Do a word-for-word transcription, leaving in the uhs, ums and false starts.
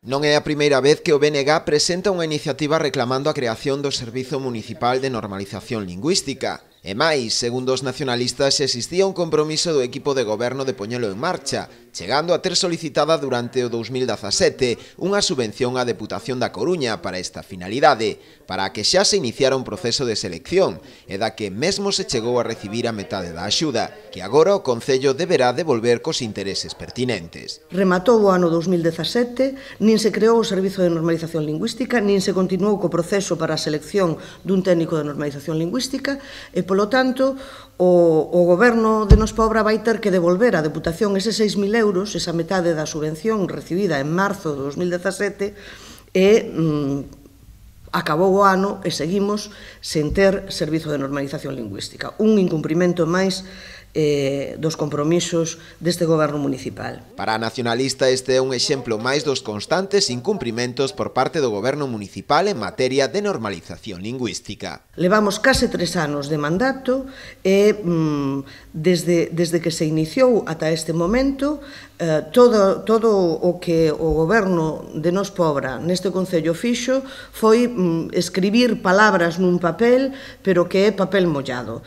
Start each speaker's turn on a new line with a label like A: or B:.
A: Non é a primeira vez que o B N G presenta unha iniciativa reclamando a creación do Servizo Municipal de Normalización Lingüística. E máis, segundo os nacionalistas, existía un compromiso do equipo de goberno de poñelo en marcha, chegando a ter solicitada durante o dous mil dezasete unha subvención á Deputación da Coruña para esta finalidade, para a que xa se iniciara un proceso de selección, e da que mesmo se chegou a recibir a metade da axuda, que agora o Concello deberá devolver cos intereses pertinentes.
B: Rematou o ano dous mil dezasete, nin se creou o Servizo de Normalización Lingüística, nin se continuou co proceso para a selección dun técnico de normalización lingüística, e polo tanto, o, o goberno de Nos Pobra vai ter que devolver á Deputación eses seis mil euros, esa metade da subvención recibida en marzo de dous mil dezasete, e mm, acabou o ano e seguimos sen ter Servizo de Normalización Lingüística. Un incumprimento máis eh, dos compromisos deste goberno municipal.
A: Para a nacionalista este é un exemplo máis dos constantes incumprimentos por parte do goberno municipal en materia de normalización lingüística.
B: Levamos case tres anos de mandato e mm, desde, desde que se iniciou ata este momento eh, todo, todo o que o goberno de Nos Pobra neste Concello fixo foi mm, escribir palabras nun papel, pero que é papel mollado.